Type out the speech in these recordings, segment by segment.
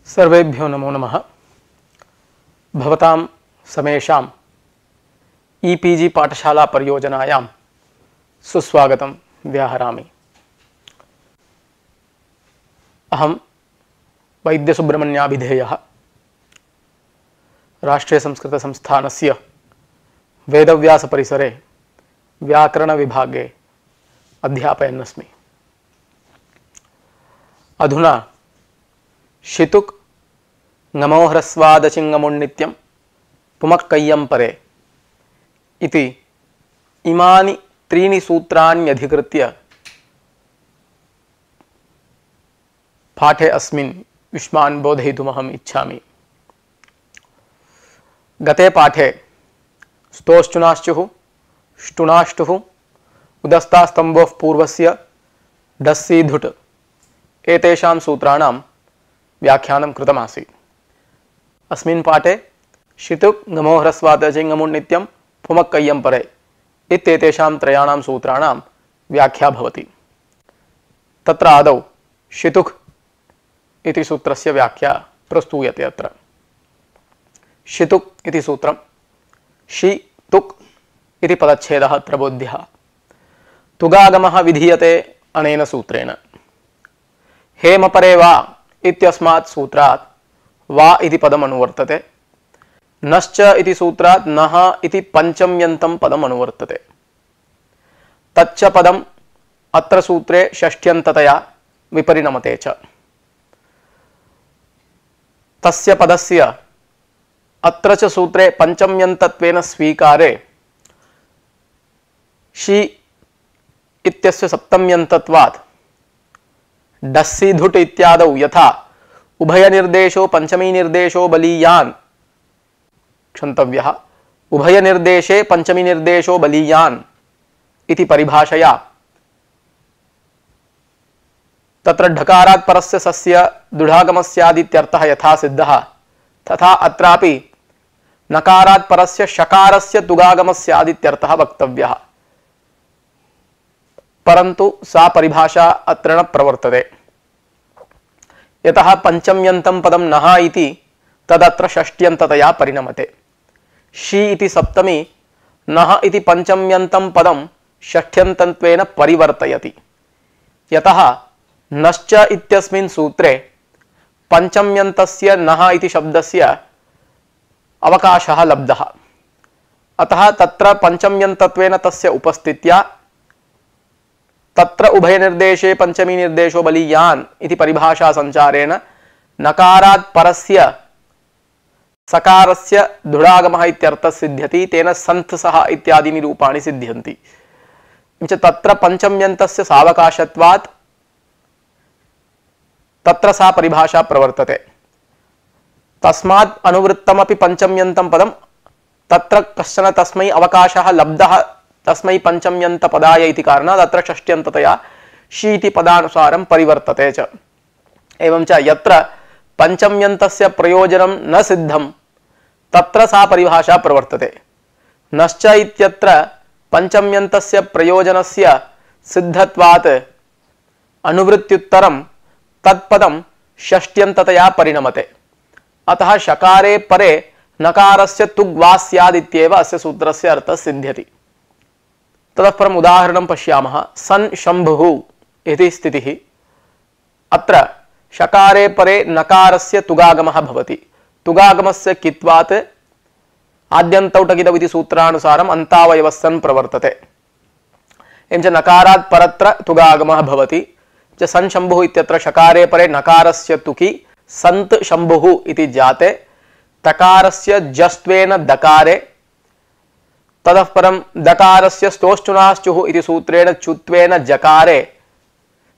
सर्वेभ्यो नमो नमः। भवतां समेषां ईपीजी पाठशाला परियोजनायां सुस्वागतं व्याहरामि। अहं वैद्यसुब्रह्मण्याभिधेयः राष्ट्रीयसंस्कृतसंस्थानस्य वेदव्यासपरिसरे व्याकरणविभागे अध्यापयन्नस्मि। अधुना शितुक् ङमोह्रस्वादचिङमुन्नित्यं पुमक्कय्यं परे इति इमानि त्रीणि सूत्राण्यधिकृत्य पाठे अस्मिन् युष्मान् बोधयितुमहम् इच्छामि। गते पाठे स्तोश्चुनाश्चुः ष्टुनाष्टुः उदस्तास्तम्भोः पूर्वस्य डस्सीधुट् एतेषां सूत्राणां व्याख्यानं कृतमासीत्। अस्मिन् पाठे शितुक् ङमोह्रस्वादचिङमुन्नित्यं पुमक्कय्यं परे इत्येतेषां त्रयाणां सूत्राणां व्याख्या भवति। तत्र आदौ शितुक् इति सूत्रस्य व्याख्या प्रस्तूयते। अत्र शितुक् इति सूत्रं शि तुक् इति पदच्छेदः अत्र बोध्यः। तुगागमः विधीयते अनेन सूत्रेण। हेमपरे वा इत्यस्मात् सूत्रात् वा इति पदम् अनुवर्तते। नश्च इति सूत्रात् नः इति पञ्चम्यन्तं पदम् अनुवर्तते। तच्च पदम् अत्र सूत्रे षष्ठ्यन्ततया विपरिणमते च। तस्य पदस्य अत्र च सूत्रे पञ्चम्यन्तत्वेन स्वीकारे शि इत्यस्य सप्तम्यन्तत्वात् डस्सीधुट् इत्यादौ यथा उभयनिर्देशो पंचमीनिर्देशो बलीयान् क्षन्तव्यः, उभयनिर्देशे पंचमीनिर्देशो बलीयान् इति परिभाषया तत्र ढकारात् परस्य सस्य दुढागमस्यादित्यर्थः यथा सिद्धः तथा अत्रापि नकारात् परस्य शकारस्य तुगागमस्यादित्यर्थः वक्तव्यः। परन्तु सा परिभाषा अत्र न प्रवर्तते। यतः पंचम्यन्तं पदं नः इति तदत्र षष्ट्यन्ततया परिणमते। शि इति सप्तमी नः इति पंचम्यन्तं पदं षष्ठ्यन्तत्वेन परिवर्तयति। यतः नश्च इत्यस्मिन् सूत्रे पंचम्यन्तस्य नः इति शब्दस्य अवकाशः लब्धः। अतः तत्र पंचम्यन्तत्वेन तस्य उपस्थित्या तत्र उभयनिर्देशे पंचमी निर्देशो बलीयान् इति परिभाषा संचारेण नकारात् परस्य सकारस्य दुढागमः इत्यर्थः सिद्ध्यति। तेन सन्थसः इत्यादीनि रूपाणि सिद्ध्यन्ति। तत्र पंचम्यन्तस्य सावकाशत्वात् तत्र सा परिभाषा प्रवर्तते। तस्मात् अनुवृत्तमपि पंचम्यन्तं पदं तत्र कश्चन तस्मै अवकाशः लब्धः तस्मै पंचम्यन्त पदाय इति कारणात् अत्र षष्ट्यन्ततया शि इति पदानुसारं परिवर्तते च। एवं च यत्र पंचम्यन्तस्य प्रयोजनं न सिद्धं तत्र सा परिभाषा प्रवर्तते। नश्च इत्यत्र पंचम्यन्तस्य प्रयोजनस्य सिद्धत्वात् अनुवृत्त्युत्तरं तत्पदं षष्ट्यन्ततया परिणमते। अतः शकारे परे नकारस्य तुग् वा स्यादित्येव अस्य सूत्रस्य अर्थः सिद्ध्यति। ततः परम् उदाहरणं पश्यामः। सन् शम्भुः इति स्थितिः। अत्र शकारे परे नकारस्य तुगागमः भवति। तुगागमस्य कित्वात् आद्यन्तौ टकितौ इति सूत्रानुसारम् अन्तावयवः सन् प्रवर्तते। एवं च नकारात् परत्र तुगागमः भवति। सन् शम्भुः इत्यत्र शकारे परे नकारस्य तुकि सन्त् शम्भुः इति जाते। तकारस्य जस्त्वेन दकारे ततः परं दकारस्य स्तोश्चुनाश्चुः इति सूत्रेण चुत्वेन जकारे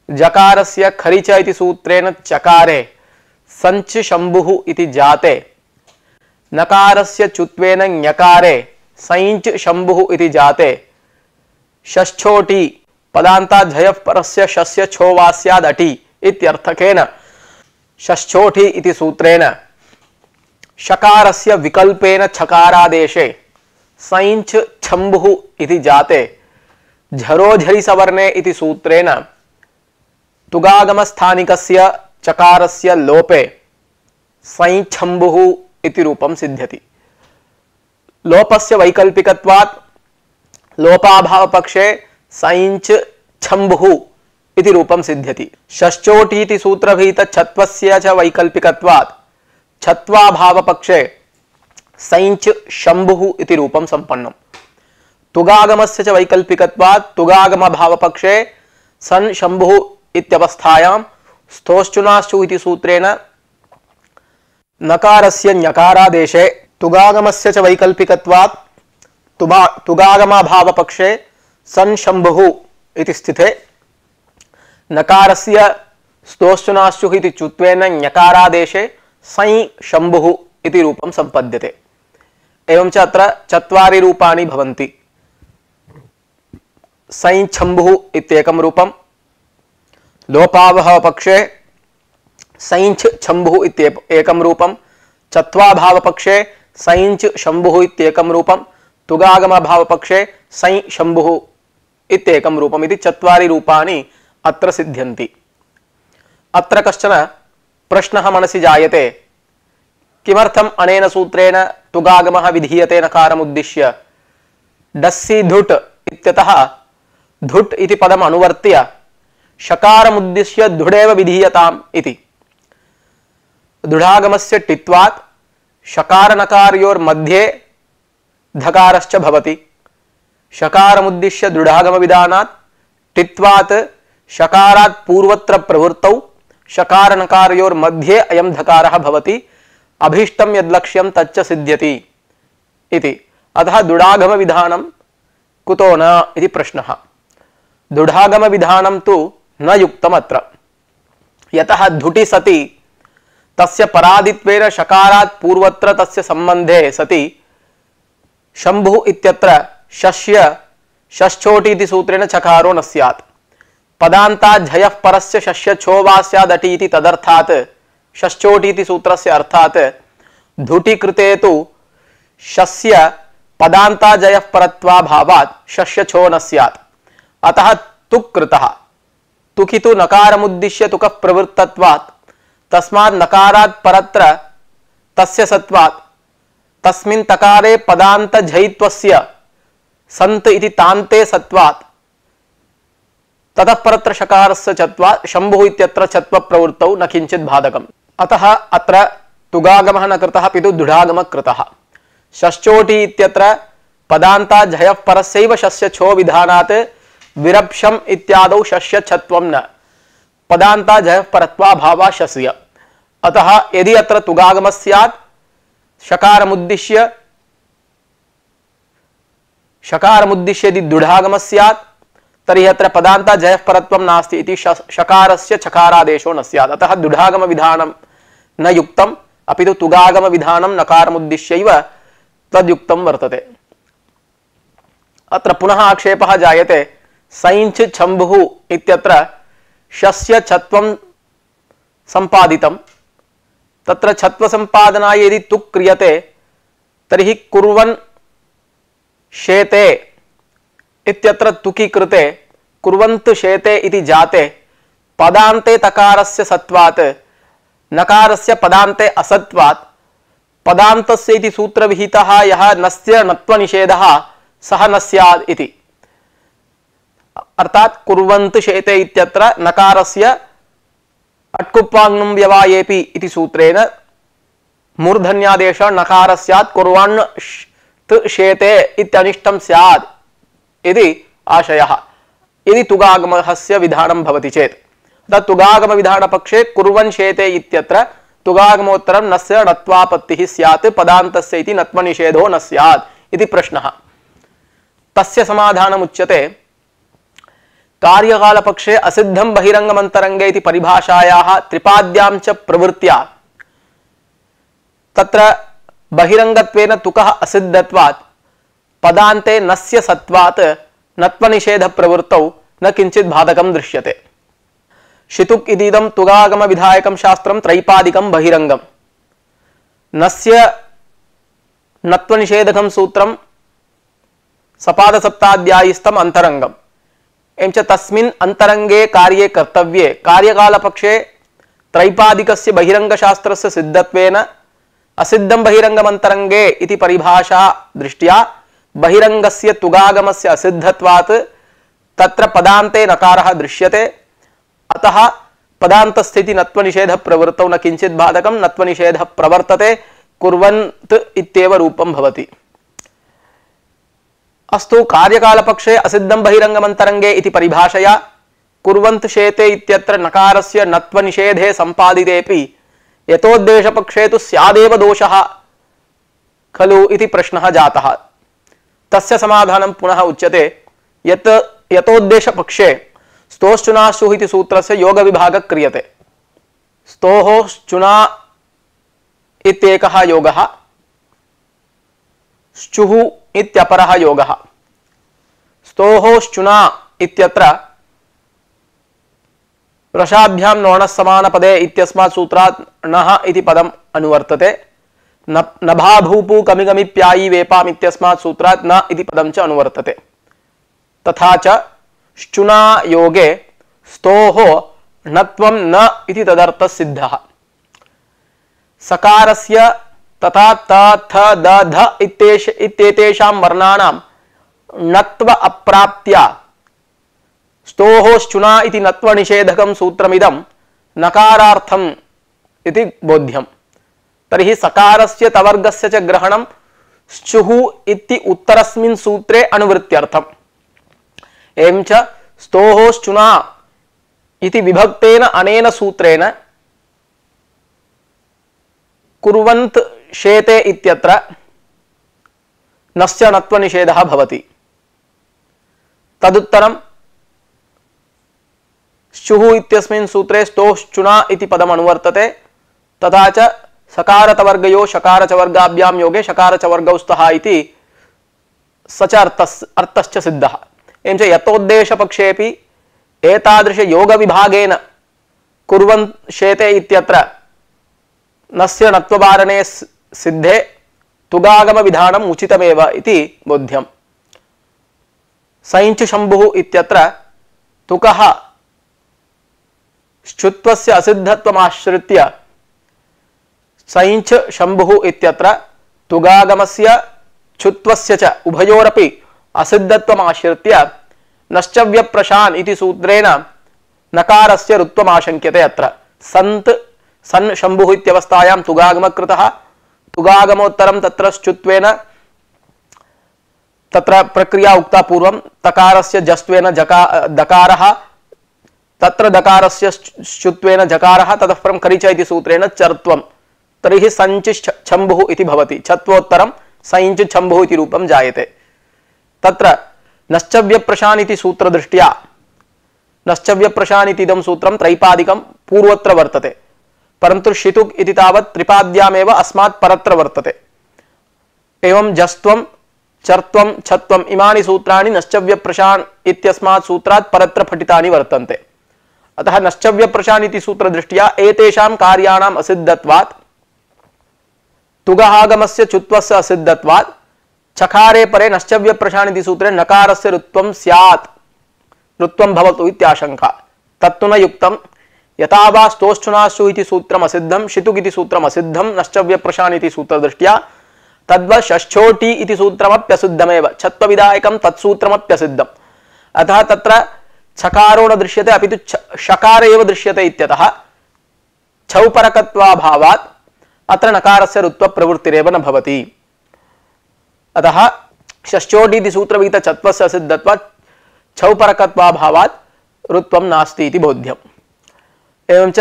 जकारस्य खरिच इति सूत्रेण चकारे सञ्च शम्भुः इति जाते। नकारस्य चुत्वेन ञकारे सञ्च शम्भुः इति जाते। षष्ठोटी पदान्तात् झयः परस्य शस्य छो वा स्यादटि इत्यर्थकेन षष्ठोटी इति सूत्रेण शकारस्य विकल्पेन छकारादेशे सञ्च छम्भुः इति जाते। झरोझरि सवर्णे इति सूत्रेण तुगागमस्थानिकस्य चकारस्य लोपे सै छम्बुः इति रूपं सिद्ध्यति। लोपस्य वैकल्पिकत्वात् लोपाभावपक्षे सैञ्च छम्बुः इति रूपं सिद्ध्यति। षश्चोटीति सूत्रभीत छत्वस्य च वैकल्पिकत्वात् छत्वाभावपक्षे सैञ्च शम्भुः इति रूपं संपन्नम्। तुगागमस्य च वैकल्पिकत्वात् तुगागमभावपक्षे सन् शम्भुः इत्यवस्थायां स्थोश्चुनाश्चु इति सूत्रेण नकारस्य ञकारादेशे तुगागमस्य च वैकल्पिकत्वात् तुगागमाभावपक्षे सन् शम्भुः इति स्थिते नकारस्य स्तोश्चुनाश्चुः इति चुत्वेन ञकारादेशे सै शम्भुः इति रूपं संपद्यते। एवं च अत्र चत्वारि रूपाणि भवन्ति। सै छम्बुः इत्येकं रूपं, लोपाभावपक्षे सैञ्च छम्बुः इत्येकं रूपं, चत्वाभावपक्षे सैञ्च शम्भुः इत्येकं रूपं, तुगागमभावपक्षे सै शम्भुः इत्येकं रूपम् इति चत्वारि रूपाणि अत्र सिद्ध्यन्ति। अत्र कश्चन प्रश्नः मनसि जायते, किमर्थम् अनेन सूत्रेण तुगागमः विधीयते नकारमुद्दिश्य? डस्सि धुट् इत्यतः धुट् इति पदम् अनुवर्त्य शकारमुद्दिश्य धुडेव विधीयताम् इति। धुडागमस्य टित्वात् शकारनकारयोर्मध्ये धकारश्च भवति। शकारमुद्दिश्य दृढागमविधानात् टित्वात् शकारात् पूर्वत्र प्रवृत्तौ शकारनकारयोर्मध्ये अयं धकारः भवति। अभीष्टं यद्लक्ष्यं तच्च सिद्ध्यति इति। अतः दुडागमविधानं कुतो न इति प्रश्नः। दुडागमविधानं तु न युक्तम् अत्र, यतः धुटि सति तस्य परादित्वेन शकारात् पूर्वत्र तस्य संबंधे सति शम्भुः इत्यत्र शस्य षष्ठोटि इति सूत्रेण चकारो न स्यात्। पदान्तात् झयः परस्य शस्य छो वा स्यादटि इति तदर्थात् षष्ठोटि इति सूत्रस्य अर्थात् धुटि कृते तु शस्य पदान्तात् झयः परत्वाभावात् शस्य छो न स्यात्। अतः तुक् कृतः। तुकि तु नकारमुद्दिश्य तुकः प्रवृत्तत्वात् तस्मात् नकारात् परत्र तस्य सत्वात् तस्मिन् तकारे पदान्त झयित्वस्य सन्त इति तान्ते सत्वात् ततः परत्र शकारस्य चत्वात् शम्भुः इत्यत्र चत्व प्रवृत्तौ न किञ्चित् बाधकम्। अतः अत्र तुगागमः न कृतः अपितु दुढागमः कृतः। षष्ठोटि इत्यत्र पदान्तात् झयः परस्यैव शस्य छो विधानात् विरप्शम् इत्यादौ शस्य छत्वं न पदान्तात् झयः परत्वाभावः शस्य। अतः यदि अत्र तुगागमः स्यात् शकारमुद्दिश्य यदि दुढागमः स्यात् तर्हि अत्र पदान्तात् झयः परत्वं नास्ति इति शकारस्य चकारादेशो न स्यात्। अतः दुढागमविधानं न युक्तम् अपितु तुगागमविधानं नकारमुद्दिश्यैव तद्युक्तं वर्तते। अत्र पुनः आक्षेपः जायते, सैञ्च छम्भुः इत्यत्र शस्य छत्वं संपादितं, तत्र छत्व संपादनाय यदि तुक् क्रियते तर्हि कुर्वन् शेते इत्यत्र तुकि कृते कुर्वन्त शेते इति जाते पदान्ते तकारस्य सत्वात् नकारस्य पदान्ते असत्वात् पदान्तस्य इति सूत्रविहितः यः नस्य नत्वनिषेधः सः न स्यात् इति। अर्थात कुर्वन्त शेते इत्यत्र नकारस्य अट्कुप्पाङ्गं व्यवायेपि इति सूत्रेण मूर्धन्यादेश नकारस्यात् कुर्वन् शेते इत्यनिष्टं स्यात् इति आशयः। यदि तुगागमस्य विधानं भवति चेत् तत् तुगागम विधानपक्षे कुर्वन् शेते इत्यत्र तुगागमोत्तरं नस्य नत्वापत्तिः स्यात् पदान्तस्य इति नत्वनिषेधो न स्यात् इति प्रश्नः। तस्य समाधानमुच्यते, कार्यकालपक्षे असिद्धं बहिरंगमंतरंगे इति परिभाषायाः त्रिपाद्यां च प्रवृत्त्या तत्र बहिरंगत्वेन तुकः असिद्धत्वात् पदान्ते नस्य सत्वात् नत्वनिषेध प्रवृत्तौ न किंचित् बाधकं दृश्यते। शितुक् इदीदं तुगागम विधायकं शास्त्रं त्रैपादिकं बहिरंगं नस्य नत्वनिषेधकं सूत्रं सपाद सप्ताध्यायिस्थं अंतरंगम एवं च तस्मिन् अंतरंगे कार्ये कर्तव्ये कार्यकालपक्षे त्रैपादिकस्य बहिरंगशास्त्रस्य सिद्धत्वेन असिद्धं बहिरंगमन्तरंगे इति परिभाषा दृष्ट्या बहिरंगस्य तुगागमस्य असिद्धत्वात् तत्र पदान्ते नकारः दृश्यते। अतः पदान्तस्थिति नत्वनिषेध प्रवृत्तौ न किंचित् बाधकं नत्वनिषेध प्रवर्तते कुर्वन्त इत्येव रूपं भवति। अस्तु, कार्यकालपक्षे असिद्धं बहिरंगमन्तरंगे इति परिभाषया कुर्वन्त शेते इत्यत्र नकारस्य नत्वनिषेधे संपादितेपि यतोद्देशपक्षे तु स्यादेव दोषः खलु इति प्रश्नः जातः। तस्य समाधानं पुनः उच्यते यत् यतोद्देशपक्षे स्तोश्चुनाश्चुः इति सूत्रस्य योगविभागः क्रियते। स्तोः श्चुना इत्येकः योगः, श्चुः इत्यपरः योगः। स्तोः श्चुना इत्यत्र रसाभ्यां नोणः समानपदे इत्यस्मात् सूत्रात् नः इति पदम् अनुवर्तते। नभा भूपु कमिगमिप्यायी वेपाम् इत्यस्मात् सूत्रात् न इति पदं च अनुवर्तते। तथा च श्चुना योगे स्तोः णत्वं न इति तदर्थः सिद्धः। सकारस्य तथा त थ द ध इत्येतेषां वर्णानां णत्व अप्राप्त्या स्तोः श्चुना इति नत्वनिषेधकं सूत्रमिदं नकारार्थम् इति बोध्यम्। तर्हि सकारस्य तवर्गस्य च ग्रहणं श्चुः इति उत्तरस्मिन् सूत्रे अनुवृत्त्यर्थम्। एवं च स्तोः श्चुना इति विभक्तेन अनेन सूत्रेण कुर्वन्त शेते इत्यत्र नस्य नत्वनिषेधः भवति। तदुत्तरं श्चुः इत्यस्मिन् सूत्रे स्तोः श्चुना इति पदम् अनुवर्तते। तथा च सकारतवर्गयो शकारचवर्गाभ्यां योगे शकारचवर्गौ स्तः इति स च अर्थश्च सिद्धः। एवं च यतोद्देशपक्षेऽपि एतादृश योगविभागेन कुर्वन्त शेते इत्यत्र नस्य नत्ववारणे सिद्धे तुगागम विधानम् उचितमेव इति बोध्यम्। सञ्च शम्भुः इत्यत्र तुकः श्चुत्वस्य असिद्धत्वमाश्रित्य सञ्च शम्भुः इत्यत्र तुगागमस्य छुत्वस्य च उभयोरपि असिद्धत्वमाश्रित्य नश्चव्यप्रशान् इति सूत्रेण नकारस्य ऋत्वमाशङ्क्यते। अत्र सन्त सन् शम्भुः इत्यवस्थायां तुगागमः कृतः, तुगागमोत्तरं तत्र श्चुत्वेन तत्र प्रक्रिया उक्ता पूर्वं तकारस्य जस्त्वेन दकारः, तत्र दकारस्य श्चुत्वेन जकारः, ततः परं करिच इति सूत्रेण चर्त्वं। तर्हि सञ्च छम्भुः इति भवति। छत्वोत्तरं सञ्च छम्भुः इति रूपं जायते। तत्र नश्चव्यप्रशान् इति सूत्रदृष्ट्या नश्चव्यप्रशान् इति इदं सूत्रं त्रैपादिकं पूर्वत्र वर्तते, परन्तु शितुक् इति तावत् त्रिपाद्यामेव अस्मात् परत्र वर्तते। एवं जस्त्वं चर्त्वं छत्वम् इमानि सूत्राणि नश्चव्यप्रशान् इत्यस्मात् सूत्रात् परत्र पठितानि वर्तन्ते। अतः नश्चव्यप्रशान् इति सूत्रदृष्ट्या एतेषां कार्याणाम् असिद्धत्वात् तुगागमस्य चुत्वस्य असिद्धत्वात् चकारे परे नश्चव्यप्रशान् इति सूत्रे नकारस्य ऋत्वं स्यात्, ऋत्वं भवतु इत्याशंका। तत्तु न युक्तं। यथा वा स्तोश्चुनाश्चु इति सूत्रम् असिद्धं, शितुक् इति सूत्रम् असिद्धं नश्चव्यप्रशान् इति सूत्रदृष्ट्या, तद्वत् षष्ठोटी इति सूत्रमप्यसिद्धमेव, छत्वविधायकं तत्सूत्रमप्यसिद्धम्। अतः तत्र छकारो न दृश्यते अपि तु षकार एव दृश्यते इत्यतः छौपरकत्वाभावात् अत्र नकारस्य ऋत्व प्रवृत्तिरेव न भवति। अतः षष्ठोटी इति सूत्रविहित छत्वस्य असिद्धत्वात् छौपरकत्वाभावात् ऋत्वं नास्ति इति बोध्यम्। एवं च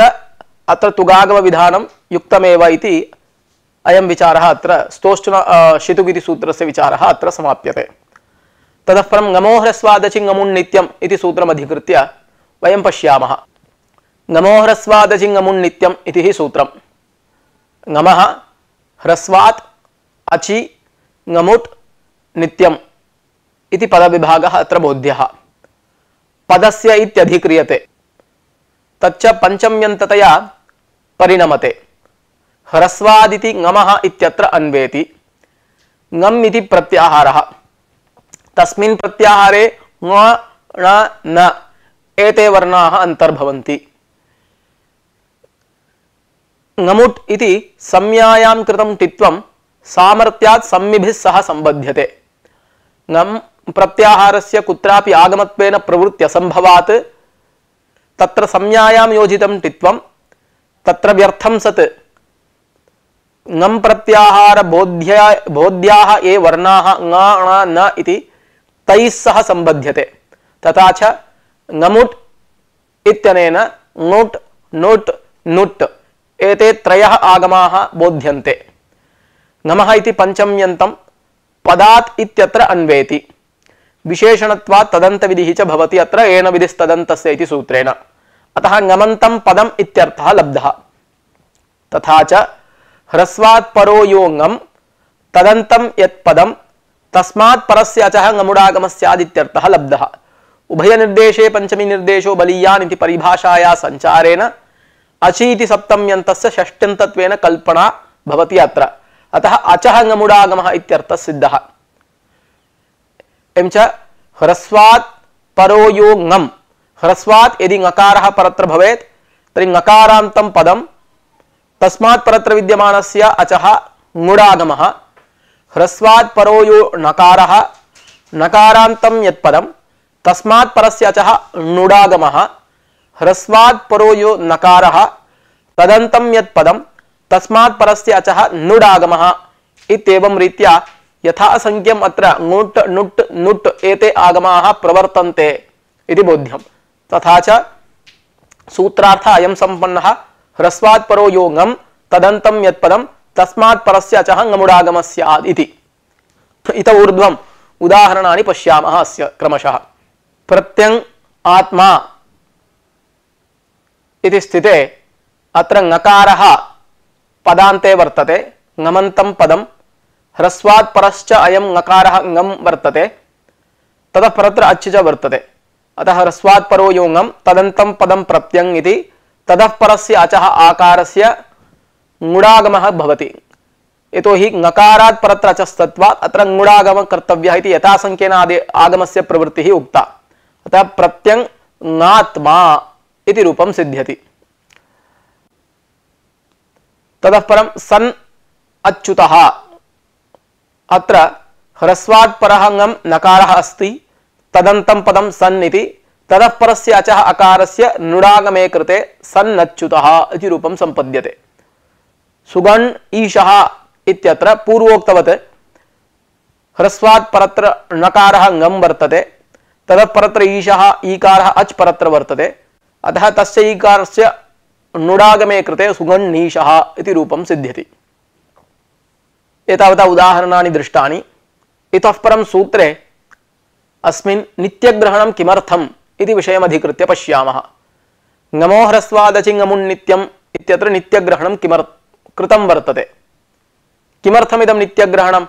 अत्र तुगागम विधानं युक्तमेव इति अयं विचारः अत्र स्तोश्चुना शितुक् इति सूत्रस्य विचारः अत्र समाप्यते। ततः परं ngमो ह्रस्वादचि ngमुन् नित्यम् इति सूत्रम् अधिकृत्य वयं पश्यामः। ngमो ह्रस्वादचि ngमुन् नित्यम् इति हि सूत्रम्। ngमः ह्रस्वात् अचि ngमुट् नित्यम् इति पदविभागः अत्र बोध्यः। पदस्य इत्यधिक्रियते, तच्च पंचम्यन्ततया परिणमते। ह्रस्वादिति ngमः इत्यत्र अन्वेति। ngम् इति प्रत्याहारः, तस्मिन् प्रत्याहारे ङ ण न एते वर्णाः अंतर्भवन्ति। ngमुट् इति संज्ञायां कृतं टित्वं सामर्थ्यात् सम्मिभिः सह संबध्यते। ngम् प्रत्याहारस्य कुत्रापि आगमत्वेन प्रवृत्ति असंभवात् तत्र संज्ञायां योजितं टित्वं तत्र व्यर्थं सत् ngम् प्रत्याहार बोध्याः ये वर्णाः ङ ण न इति तैः सह संबध्यते। तथा च ngमुट् इत्यनेन ङुट् नुट् नुट् एते त्रयः आगमाः बोध्यन्ते। ngमः इति पंचम्यन्तं पदात् इत्यत्र अन्वेति विशेषणत्वात् तदन्तविधिः च भवति अत्र येन विधिस्तदन्तस्य इति सूत्रेण। अतः ngमन्तं पदम् इत्यर्थः लब्धः। तथा च ह्रस्वात् परो यो ngम् तदन्तं यत् पदं तस्मात् परस्य अचः ngमुडागमस्यादित्यर्थः लब्धः। उभय निर्देशे पंचमी निर्देशो बलीयान् इति परिभाषाया संचारेण अचीति सप्तम्यन्तस्य षष्ट्यन्तत्वेन कल्पना भवति अत्र। अतः अचः ngमुडागमः इत्यर्थः सिद्धः। एवं च ह्रस्वात् परो यो ngम् ह्रस्वात् यदि ङकारः परत्र भवेत् तर्हि ङकारान्तं पदं तस्मात् परत्र विद्यमानस्य अचः ङुडागमः। ह्रस्वात् परो यो णकारः नकारान्तं यत् पदं तस्मात् परस्य अचः णुडागमः। ह्रस्वात् परो यो नकारः तदन्तं यत् पदं तस्मात् परस्य अचः नुडागमः। इत्येवं रीत्या यथासंख्यम् अत्र ङुट् नुट् नुट् एते आगमाः प्रवर्तन्ते इति बोध्यम्। तथा च सूत्रार्थ अयं सम्पन्नः ह्रस्वात् परो यो ngम् तदन्तं यत् पदं तस्मात् परस्य अचः ngमुडागमः स्यात् इति। इत ऊर्ध्वम् उदाहरणानि पश्यामः अस्य क्रमशः। प्रत्यङ् आत्मा इति स्थिते अत्र ङकारः पदान्ते वर्तते ngमन्तं पदं ह्रस्वात् परश्च अयं ङकारः ngम् वर्तते ततः परत्र अच् च वर्तते। अतः ह्रस्वात् परो यो ngम् तदन्तं पदं प्रत्यङ् इति ततः परस्य अचः आकारस्य ङुडागमः भवति। यतोहि ङकारात् परत्र अचस्तत्वात् अत्र ङुडागमः कर्तव्यः इति यथासंख्येन आगमस्य प्रवृत्तिः उक्ता। अतः प्रत्यङ् ङात्मा इति रूपं सिद्ध्यति। ततः परं सन् अच्युतः अत्र ह्रस्वात् परः ngम् नकारः अस्ति तदन्तं पदं सन् इति ततः परस्य अचः अकारस्य नुडागमे कृते सन्नच्युतः इति रूपं सम्पद्यते। सुगण् ईशः इत्यत्र पूर्वोक्तवत् ह्रस्वात् परत्र णकारः ngम् वर्तते ततः परत्र ईशः ईकारः अच् परत्र वर्तते। अतः तस्य ईकारस्य नुडागमे कृते सुगण्णीशः इति रूपं सिद्ध्यति। एतावता उदाहरणानि दृष्टानि। इतः परं सूत्रे अस्मिन् नित्यग्रहणं किमर्थम् इति विषयमधिकृत्य पश्यामः। ngमो ह्रस्वादचि ngमुन्नित्यम् इत्यत्र नित्यग्रहणं कृतं वर्तते। किमर्थमिदं नित्यग्रहणम्?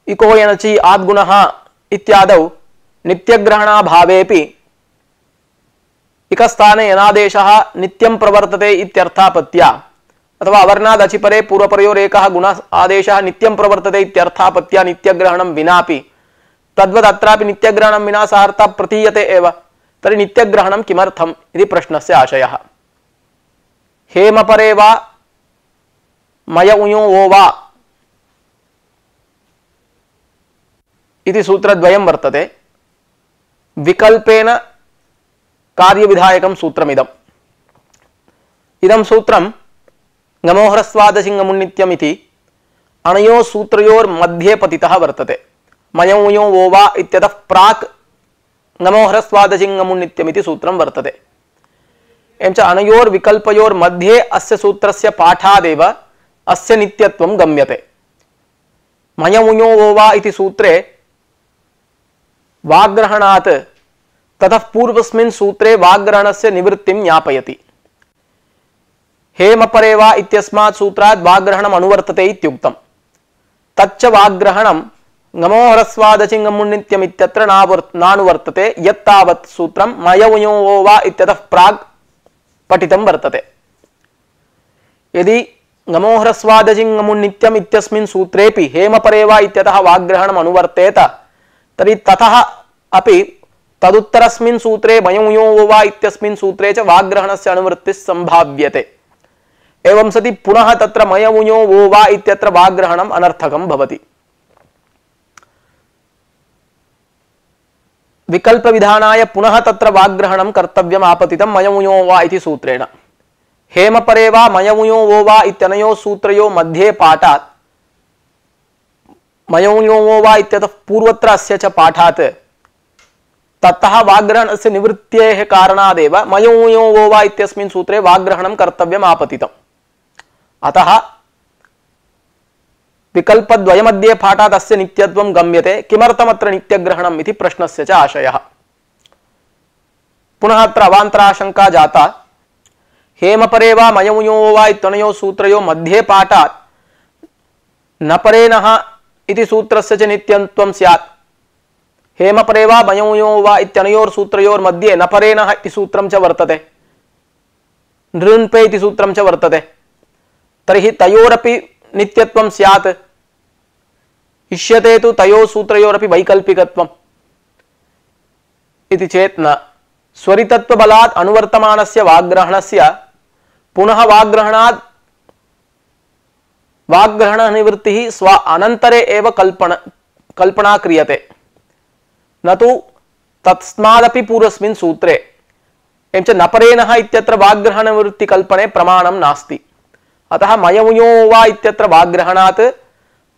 इको यनचि आद्गुणः इत्यादौ नित्यग्रहणाभावेपि इकस्थाने यनादेशः नित्यं प्रवर्तते इत्यर्थापत्या अथवा अवर्णादचिपरे पूर्वपरयोरेकः गुण आदेशः नित्यं प्रवर्तते इत्यर्थापत्या नित्यग्रहणं विनापि तद्वत् अत्रापि नित्यग्रहणं विना सः अर्थः प्रतीयते एव। तर्हि नित्यग्रहणं किमर्थम् इति प्रश्नस्य आशयः। हेमपरे वा मय उयो वो वा इति सूत्रद्वयं वर्तते। विकल्पेन कार्यविधायकं सूत्रमिदम्। इदं सूत्रं ngमो ह्रस्वादचि ngमुन्नित्यम् इति अनयोः सूत्रयोर्मध्ये पतितः वर्तते। मयो उयो वो वा इत्यतः प्राक् ngमो ह्रस्वादचि ngमुन्नित्यम् इति सूत्रं वर्तते। एवं च अनयोर्विकल्पयोर्मध्ये अस्य सूत्रस्य पाठादेव अस्य नित्यत्वं गम्यते। मयो उयो वो वा इति सूत्रे वाग्ग्रहणात् ततः पूर्वस्मिन् सूत्रे वाग्ग्रहणस्य निवृत्तिं ज्ञापयति। हेमपरे वा इत्यस्मात् सूत्रात् वाग्ग्रहणम् अनुवर्तते इत्युक्तं। तच्च वाग्ग्रहणं ngमो ह्रस्वादचि ngमुन्नित्यम् इत्यत्र नानुवर्तते यत्तावत् सूत्रं मय उयो वो वा इत्यतः प्राग् पठितं वर्तते। यदि ngमो ह्रस्वादचि ngमुन्नित्यम् इत्यस्मिन् सूत्रेपि हेमपरे वा इत्यतः वाग्ग्रहणम् अनुवर्तेत तर्हि ततः अपि तदुत्तरस्मिन् सूत्रे मय उयो वो वा इत्यस्मिन् सूत्रे च वाग्ग्रहणस्य अनुवृत्तिः सम्भाव्यते। एवं सति पुनः तत्र मयमुञो वो वा इत्यत्र वाग्रहणम् अनर्थकं भवति। विकल्प विधानाय पुनः तत्र वाग्रहणं कर्तव्यम् आपतितं मयमुञो वा इति सूत्रेण। हेमपरे वा मयमुञो वो वा इत्यनयोः सूत्रयोः मध्ये पाठात् मयमुञो वो वा इत्यतः पूर्वत्र अस्य च पाठात् ततः वाग्रहणस्य निवृत्तेः कारणादेव मयमुञो वो वा इत्यस्मिन् सूत्रे वाग्रहणं कर्तव्यम् आपतितम्। अतः विकल्पद्वयमध्ये पाठात् अस्य नित्यत्वं गम्यते। किमर्थमत्र नित्यग्रहणम् इति प्रश्नस्य च आशयः। पुनः अत्र अवान्तराशंका जाता। हेमपरे वा मयमुञो वो वा इत्यनयोः सूत्रयोः मध्ये पाठात् न परेणः इति सूत्रस्य च नित्यत्वं स्यात्। हेमपरे वा मयमुञो वा इत्यनयोः सूत्रयोर्मध्ये न परेणः इति सूत्रं च वर्तते, नृन्पे इति सूत्रं च वर्तते। तर्हि तयोरपि नित्यत्वं स्यात्। इष्यते तु तयोः सूत्रयोरपि वैकल्पिकत्वम् इति चेत् न। स्वरितत्वबलात् अनुवर्तमानस्य वाग्रहणस्य पुनः वाग्रहणात् वाग्रहण निवृत्तिः स्व अनन्तरे एव कल्पना क्रियते, न तु तस्मादपि पूर्वस्मिन् सूत्रे। एवञ्च न परेणः इत्यत्र वाग्रहण निवृत्ति कल्पने प्रमाणं नास्ति। अतः मयमुञो वा इत्यत्र वाग्रहणात्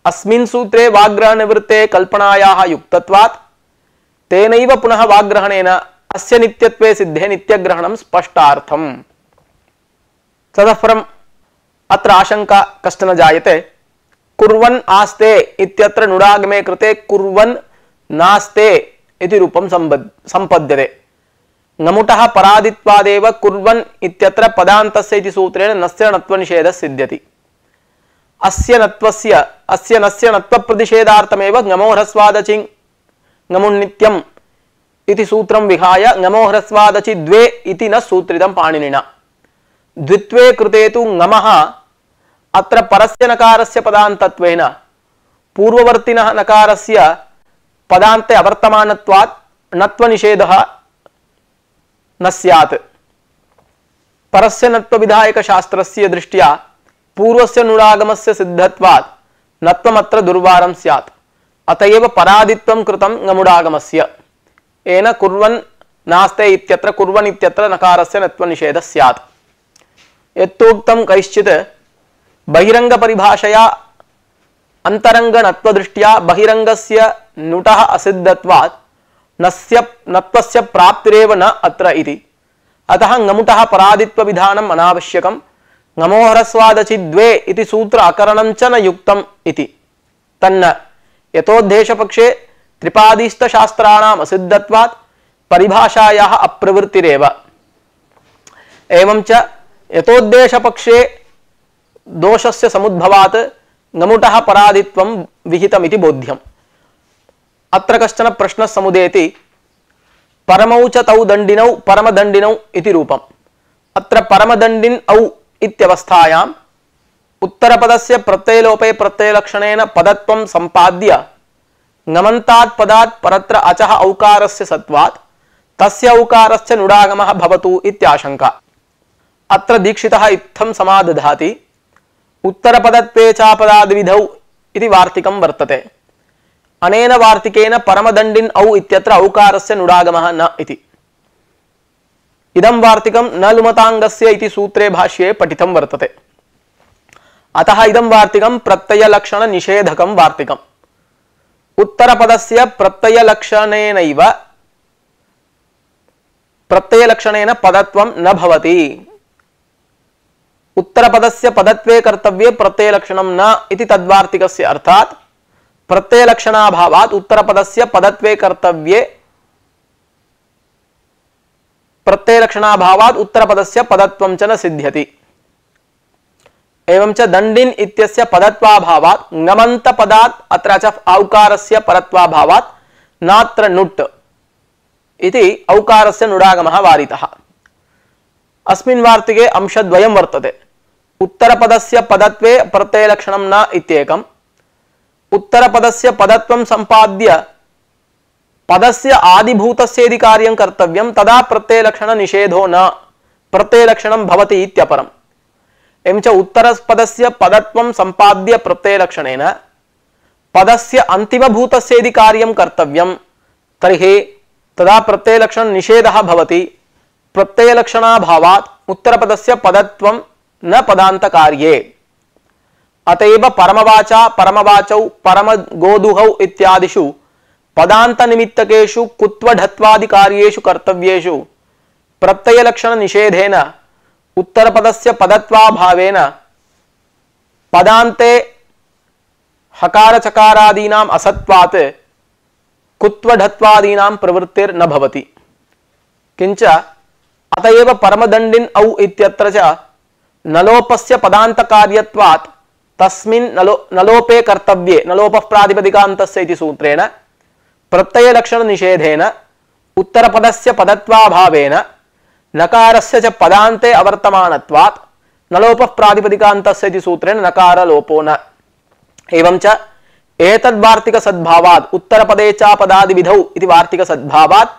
अस्मिन् सूत्रे वाग्रहण निवृत्ते कल्पनायाः युक्तत्वात् तेनैव पुनः वाग्रहणेन अस्य नित्यत्वे सिद्धे नित्यग्रहणं स्पष्टार्थम्। ततः परम् अत्र आशंका कश्चन जायते। कुर्वन् आस्ते इत्यत्र नुडागमे कृते कुर्वन् नास्ते इति रूपं सम्पद्यते। ङमुटः परादित्वादेव कुर्वन् इत्यत्र पदान्तस्य इति सूत्रेण नस्य नत्वनिषेधः सिद्ध्यति। अस्य नस्य नत्वप्रतिषेधार्थमेव ङमोह्रस्वादचि ङमुन्नित्यम् इति सूत्रं विहाय ङमोह्रस्वादचि द्वे इति न सूत्रितं पाणिनिना। द्वित्वे कृते तु ङमः अत्र परस्य नकारस्य पदान्तत्वेन पूर्ववर्तिनः नकारस्य पदान्ते अवर्तमानत्वात् नत्वनिषेधः न स्यात्। परस्य नत्वविधायकशास्त्रस्य दृष्ट्या पूर्वस्य नुडागमस्य सिद्धत्वात् नत्वमत्र दुर्वारं स्यात्। अतएव परादित्वं कृतं ङमुडागमस्य। येन कुर्वन् नास्ते इत्यत्र कुर्वन् इत्यत्र नकारस्य नत्वनिषेधः स्यात्। यत्तोक्तं कैश्चित् बहिरंग परिभाषया अंतरंग नत्वदृष्ट्या बहिरंगस्य नुटः असिद्धत्वात् नस्य नत्वस्य प्राप्तिरेव न अत्र इति। अतः ङमुटः परादित्व विधानम् अनावश्यकम्। ङमोह्रस्वादचि द्वे इति सूत्र अकरणं च न युक्तम् इति। तन्न यतोद्देशपक्षे त्रिपादीस्थशास्त्राणाम् असिद्धत्वात् परिभाषायाः अप्रवृत्तिरेव। एवं च यतोद्देशपक्षे दोषस्य समुद्भवात् ङमुटः परादित्वं विहितमिति बोध्यम्। अत्र कश्चन प्रश्नः समुदेति। परमौ च तौ दण्डिनौ परमदण्डिनौ इति रूपम्। अत्र परमदण्डिन् औ इत्यवस्थायाम् उत्तरपदस्य प्रत्ययलोपे प्रत्ययलक्षणेन पदत्वं सम्पाद्य ङमन्तात् पदात् परत्र अचः औकारस्य सत्वात् तस्य औकारस्य नुडागमः भवतु इत्याशंका। अत्र दीक्षितः इत्थं समादधाति। उत्तरपदत्वे चापदाद्विधौ इति वार्तिकं वर्तते। अनेन वार्तिकेन परमदण्डिन् औ इत्यत्र औकारस्य नुडागमः न इति। इदं वार्तिकं न लुमताङ्गस्य इति सूत्रे भाष्ये पठितं वर्तते। अतः इदं वार्तिकं प्रत्ययलक्षण निषेधकं वार्तिकम्। उत्तरपदस्य प्रत्ययलक्षणेनैव प्रत्ययलक्षणेन पदत्वं न भवति। उत्तरपदस्य पदत्वे कर्तव्ये प्रत्ययलक्षणं न इति तद्वार्तिकस्य अर्थात् प्रत्ययलक्षणाभावात् उत्तरपदस्य पदत्वे कर्तव्ये प्रत्ययलक्षणाभावात् उत्तरपदस्य पदत्वं च न सिद्ध्यति। एवं च दण्डिन् इत्यस्य पदत्वाभावात् ङमन्तपदात् अत्र च औकारस्य परत्वाभावात् नात्र नुट् इति औकारस्य नुडागमः वारितः। अस्मिन् वार्तिके अंशद्वयं वर्तते। उत्तरपदस्य पदत्वे प्रत्ययलक्षणं न इत्येकम्। उत्तरपदस्य पदत्वं सम्पाद्य पदस्य आदिभूतस्य यदि कार्यं कर्तव्यं तदा प्रत्ययलक्षण निषेधो न प्रत्ययलक्षणं भवति इत्यपरम्। एवं च उत्तरपदस्य पदत्वं सम्पाद्य प्रत्ययलक्षणेन पदस्य अन्तिमभूतस्य यदि कार्यं कर्तव्यं तर्हि तदा प्रत्ययलक्षण निषेधः भवति। प्रत्ययलक्षणाभावात् उत्तरपदस्य पदत्वं न पदान्तकार्ये। अतएव परमवाचा परमवाचौ परमगोदुहौ इत्यादिषु पदान्तनिमित्तकेषु कुत्वढत्वादिकार्येषु कर्तव्येषु प्रत्ययलक्षणनिषेधेन उत्तरपदस्य पदत्वाभावेन पदान्ते हकारचकारादीनाम् असत्वात् कुत्वढत्वादीनां प्रवृत्तिर्न भवति। किंच अतएव परमदण्डिन औ इत्यत्र च नलोपस्य पदान्तकार्यत्वात् तस्मिन् नलोपे कर्तव्ये नलोपः प्रातिपदिकान्तस्य इति सूत्रेण प्रत्ययलक्षणनिषेधेन उत्तरपदस्य पदत्वाभावेन नकारस्य च पदान्ते अवर्तमानत्वात् नलोपः प्रातिपदिकान्तस्य इति सूत्रेण नकारलोपो न। एवं च एतद्वार्तिकसद्भावात् उत्तरपदे च पदादिविधौ इति वार्तिकसद्भावात्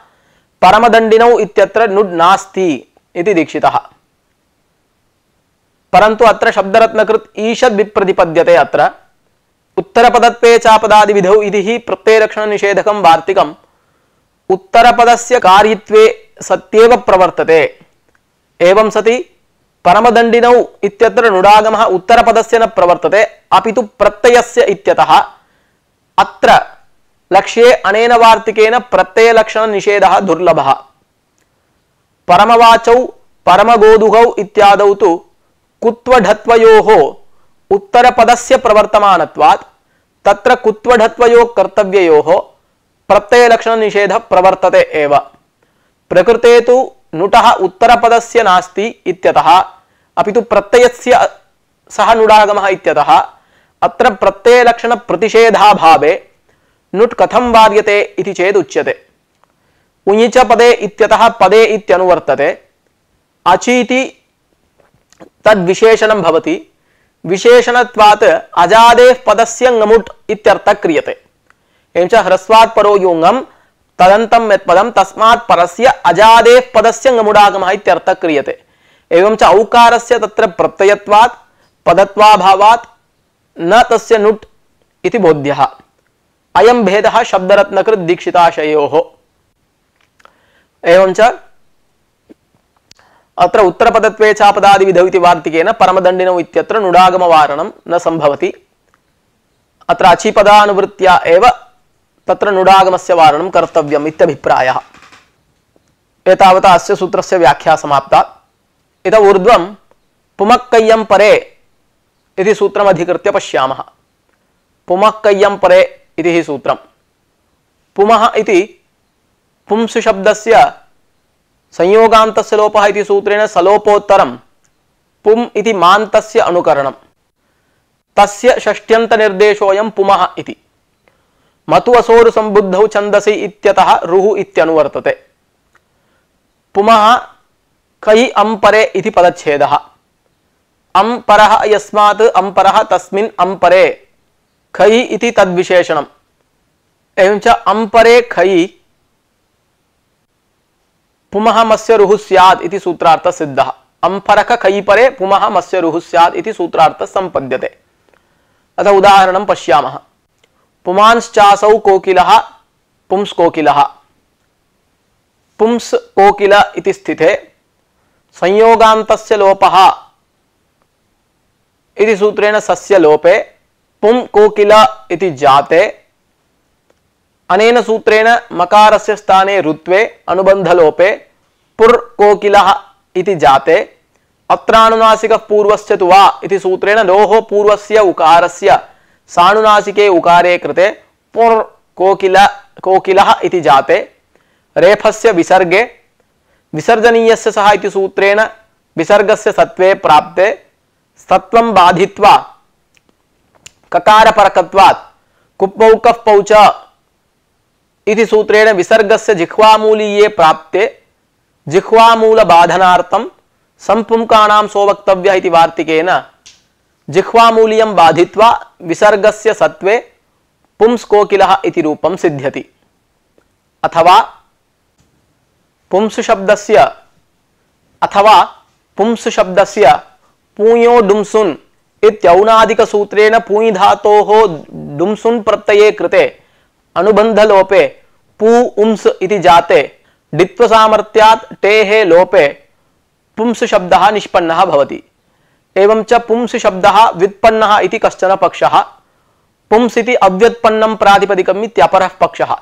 परमदण्डिनौ इत्यत्र नुड् नास्ति इति दीक्षितः। परन्तु अत्र शब्दरत्नकृत ईषद् विप्रतिपद्यते। अत्र उत्तरपदत्वे च पदादिविधौ इति हि प्रत्ययलक्षणनिषेधकं वार्तिकम् उत्तरपदस्य कार्यत्वे सत्येव प्रवर्तते। एवं सति परमदण्डिनौ इत्यत्र नुडागमः उत्तरपदस्य न प्रवर्तते अपितु प्रत्ययस्य इत्यतः अत्र लक्ष्ये अनेन वार्तिकेन प्रत्ययलक्षणनिषेधः दुर्लभः। परमवाचौ परमगोदुहौ इत्यादौ तु कुत्वढत्वयोः उत्तरपदस्य प्रवर्तमानत्वात् तत्र कुत्वढत्वयोः कर्तव्ययोः प्रत्ययलक्षणनिषेधः प्रवर्तते एव। प्रकृते तु नुटः उत्तरपदस्य नास्ति इत्यतः अपितु प्रत्ययस्य सह नुडागमः इत्यतः अत्र प्रत्ययलक्षणप्रतिषेधाभावे नुट् कथं वार्यते इति चेत् उच्यते। उञिच पदे इत्यतः पदे इत्यनुवर्तते। अचीति तद्विशेषणं भवति। विशेषणत्वात् अजादेः पदस्य ङमुट् इत्यर्थः क्रियते। एवं च ह्रस्वात् परो यो ङम् तदन्तं यत्पदं तस्मात् परस्य अजादेः पदस्य ङमुडागमः इत्यर्थः क्रियते। एवं च औकारस्य तत्र प्रत्ययत्वात् पदत्वाभावात् न तस्य नुट् इति बोध्यः। अयं भेदः शब्दरत्नकृत दीक्षिताशयोः। एवं च अत्र उत्तरपदत्वे च पदादिविधौ इति वार्तिकेन परमदण्डिनौ इत्यत्र नुडागमवारणं न संभवति। अत्र अचिपदानुवृत्त्या एव तत्र नुडागमस्य वारणं कर्तव्यम् इत्यभिप्रायः। एतावता अस्य सूत्रस्य व्याख्या समाप्ता। इतः ऊर्ध्वं पुमक्कय्यं परे इति सूत्रम् अधिकृत्य पश्यामः। पुमक्कय्यं परे इति हि सूत्रम्। पुमः इति पुंसु शब्दस्य संयोगान्तस्य लोपः इति सूत्रेण सलोपोत्तरं पुम् इति मान्तस्य अनुकरणम्। तस्य षष्ट्यन्तनिर्देशोऽयं पुमः इति। मतु असोरु संबुद्धौ छन्दसि इत्यतः रुः इत्यनुवर्तते। पुमः कै अम्परे इति पदच्छेदः। अम्परः यस्मात् अम्परः तस्मिन् अम्परे खै इति तद्विशेषणम्। एवं च अम्परे खै पुमः मस्य रुः स्यात् इति सूत्रार्थः सिद्धः। अम्फरक खै परे पुमः मस्य रुः स्यात् इति सूत्रार्थः संपद्यते। अतः उदाहरणं पश्यामः। पुमांश्चासौ कोकिलः पुंस्कोकिलः। पुंस् कोकिल इति स्थिते संयोगान्तस्य लोपः इति सूत्रेण सस्य लोपे पुं कोकिल इति जाते। अनेन सूत्रेण मकारस्य स्थाने रुत्वे अनुबन्धलोपे पुर् कोकिलः इति जाते। अत्रानुनासिकः पूर्वस्य तु वा इति सूत्रेण लोः पूर्वस्य उकारस्य सानुनासिके उकारे कृते पुर् कोकिलः इति जाते। रेफस्य विसर्गे विसर्जनीयस्य सः इति सूत्रेण विसर्गस्य सत्वे प्राप्ते सत्वं बाधित्वा ककारपरकत्वात् कुप्पौकः पौच इति सूत्रेण विसर्गस्य जिह्वामूलीये प्राप्ते जिह्वामूलबाधनार्थं संपुंकाणां सोवक्तव्यः इति वार्तिकेन जिह्वामूल्यं बाधित्वा विसर्गस्य सत्वे पुंस्कोकिलः इति रूपं सिद्ध्यति। अथवा पुंसु शब्दस्य पूयो डुम्सुन् इत्यौनादिक सूत्रेण पूयि धातोः डुम्सुन् प्रत्यये कृते अनुबन्धलोपे पू उम्स् इति जाते डित्व सामर्थ्यात् टेः लोपे पुंस् शब्दः निष्पन्नः भवति। एवं च पुंस् शब्दः व्युत्पन्नः इति कश्चन पक्षः। पुंस् इति अव्युत्पन्नं प्रातिपदिकम् इत्यपरः पक्षः।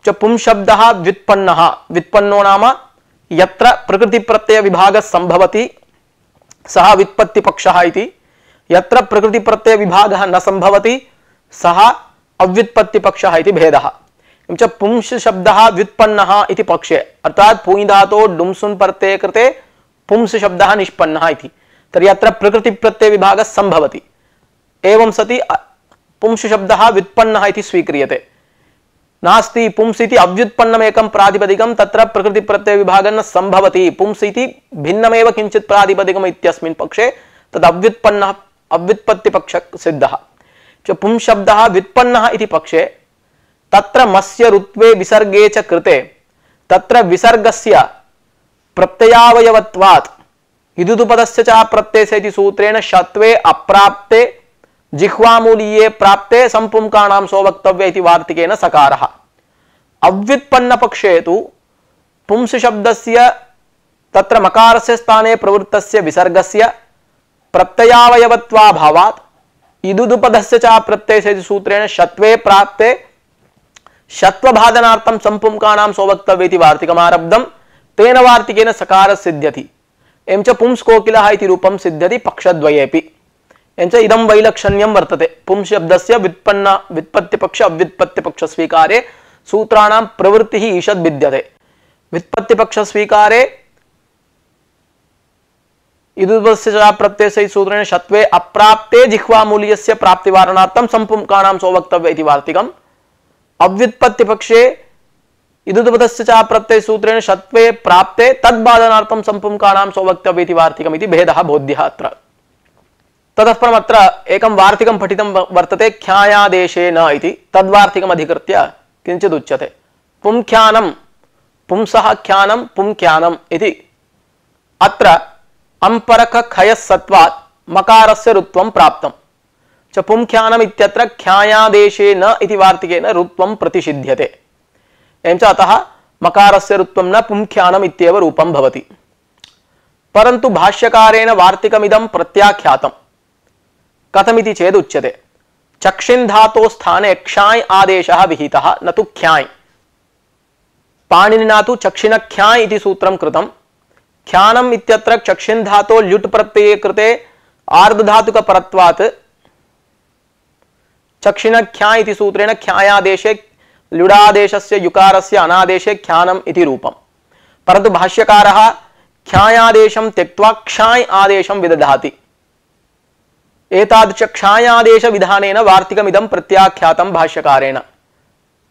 च पुंस् शब्दः व्युत्पन्नः, व्युत्पन्नो नाम यत्र प्रकृति प्रत्यय विभागः संभवति सः व्युत्पत्ति पक्षः इति, यत्र प्रकृति प्रत्यय विभागः न संभवति सः अव्युत्पत्ति पक्षः इति भेदः। च पुंस् शब्दः व्युत्पन्नः इति पक्षे, अर्थात् पूयि धातोः डुम्सुन् प्रत्यये कृते पुंस् शब्दः निष्पन्नः इति, तर्हि अत्र प्रकृति प्रत्यय विभागः संभवति। एवं सति पुंस् शब्दः व्युत्पन्नः इति स्वीक्रियते। नास्ति पुंस् इति अव्युत्पन्नमेकं प्रातिपदिकं, तत्र प्रकृति प्रत्यय विभागः न संभवति, पुंस् इति भिन्नमेव किञ्चित् प्रातिपदिकम् इत्यस्मिन् पक्षे तद् अव्युत्पन्नः अव्युत्पत्ति पक्षः सिद्धः। च पुंस् शब्दः व्युत्पन्नः इति पक्षे तत्र मस्य ऋत्वे विसर्गे च कृते तत्र विसर्गस्य प्रत्ययावयवत्वात् इदुदुपदस्य च प्रत्ययस्य इति सूत्रेण शत्वे अप्राप्ते जिह्वामूलीये प्राप्ते संपुंकाणां सोवक्तव्य इति वार्तिकेन सकारः। अव्युत्पन्न पक्षे तु पुंस् शब्दस्य तत्र मकारस्य स्थाने प्रवृत्तस्य विसर्गस्य प्रत्ययावयवत्वाभावात् इदुदुपदस्य च प्रत्ययस्य इति सूत्रेण शत्वे प्राप्ते शत्वभादनार्थं संपुंकाणां सोवक्तव्य इति वार्तिकमारब्धं, तेन वार्तिकेन सकारः सिद्ध्यति। एवं च पुंस् कोकिलः इति रूपं सिद्ध्यति पक्षद्वयेपि। एवं च इदं वैलक्षण्यं वर्तते पुंस् शब्दस्य व्युत्पत्तिपक्ष अव्युत्पत्तिपक्ष स्वीकारे सूत्राणां प्रवृत्तिः ईषद् विद्यते। व्युत्पत्तिपक्ष स्वीकारे इदुपदस्य च प्रत्ययस्य सूत्रेण शत्वे अप्राप्ते जिह्वामूल्यस्य प्राप्तिवारणार्थं संपुंकाणां सोवक्तव्य इति वार्तिकम्। अव्युत्पत्तिपक्षे इदुपदस्य च प्रत्यय सूत्रेण शत्वे प्राप्ते तद्बाधनार्थं संपुंकाणां सोवक्तव्य इति वार्तिकम् इति भेदः बोध्यः अत्र। ततः परम् अत्र एकं वार्तिकं पठितं वर्तते ख्यायादेशेन इति, तद्वार्तिकम् अधिकृत्य किञ्चित् उच्यते। पुंख्यानं पुंसः ख्यानं पुंख्यानम् इति अत्र अंपरक खयस्सत्वात् मकारस्य ऋत्वं प्राप्तं। च पुंख्यानम् इत्यत्र ख्यायादेशेन इति वार्तिकेन ऋत्वं प्रतिषिध्यते। एवं च अतः मकारस्य ऋत्वं न पुंख्यानम् इत्येव रूपं भवति। परन्तु भाष्यकारेण वार्तिकमिदं प्रत्याख्यातं। कथमिति चेद् उच्यते चक्षिन् धातोः स्थाने क्षाय् आदेशः विहितः न तु ख्याय्। पाणिनिना तु चक्षिणख्याय् इति सूत्रं कृतं। ख्यानम् इत्यत्र चक्षिन् धातोः ल्युट् प्रत्यये कृते आर्धधातुकपरत्वात् चक्षिणख्याय् इति सूत्रेण ख्यायादेशे ल्युडादेशस्य युकारस्य अनादेशे ख्यानम् इति रूपम्। परन्तु भाष्यकारः ख्यायादेशं त्यक्त्वा क्षाय् आदेशं विदधाति। एतादृश क्षायादेश विधानेन वार्तिकमिदं प्रत्याख्यातं भाष्यकारेण।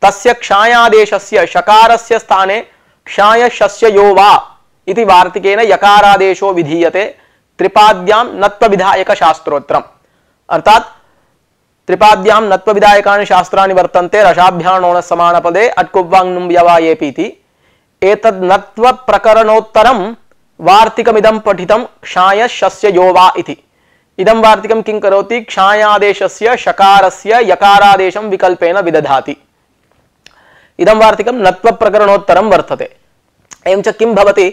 तस्य क्षायादेशस्य शकारस्य स्थाने क्षायशस्य यो वा इति वार्तिकेन यकारादेशो विधीयते त्रिपाद्यां नत्वविधायक शास्त्रोत्रम्। अर्थात् त्रिपाद्यां नत्वविधायकानि शास्त्राणि वर्तन्ते रसाभ्याणोण समानपदे अट्कुव्वाङ् व्यवायेपीति। एतद् नत्व प्रकरणोत्तरं वार्तिकमिदं पठितं क्षायशस्य यो वा इति। इदं वार्तिकं किं करोति क्षायादेशस्य शकारस्य यकारादेशं विकल्पेन विदधाति। इदं वार्तिकं नत्व प्रकरणोत्तरं वर्तते। एवं च किं भवति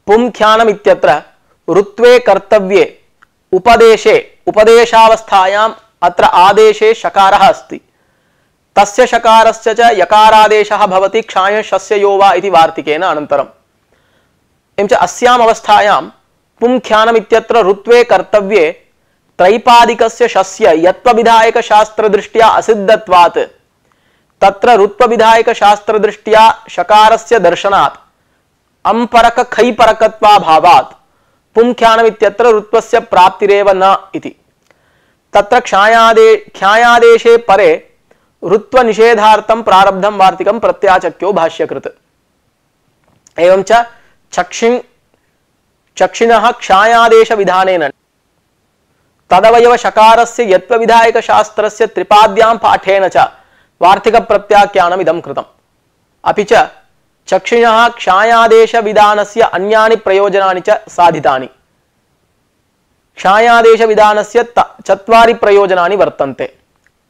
पुंख्यानम् इत्यत्र ऋत्वे कर्तव्ये उपदेशे उपदेशावस्थायाम् अत्र आदेशे शकारः अस्ति। तस्य शकारस्य च यकारादेशः भवति क्षायशस्य यो वा इति वार्तिकेन अनन्तरम्। एवं च अस्याम् अवस्थायां पुंख्यानम् इत्यत्र ऋत्वे कर्तव्ये त्रैपादिकस्य शस्य यत्वविधायक शास्त्रदृष्ट्या असिद्धत्वात् तत्र ऋत्वविधायक शास्त्रदृष्ट्या शकारस्य दर्शनात् अंपरक खैपरकत्वाभावात् पुंख्यानम् इत्यत्र ऋत्वस्य प्राप्तिरेव न इति। तत्र ख्यायादेशे परे ऋत्व निषेधार्थं प्रारब्धं वार्तिकं प्रत्याचक्यो भाष्यकृत्। एवं च चक्षिणः क्षायादेश विधानेन तदवयव शकारस्य यत्वविधायक शास्त्रस्य त्रिपाद्यां पाठेन च वार्तिक प्रत्याख्यानम् इदं कृतम्। अपि च चक्षिणः क्षायादेश विधानस्य अन्यानि प्रयोजनानि च साधितानि। क्षायादेशविधानस्य चत्वारि प्रयोजनानि वर्तन्ते।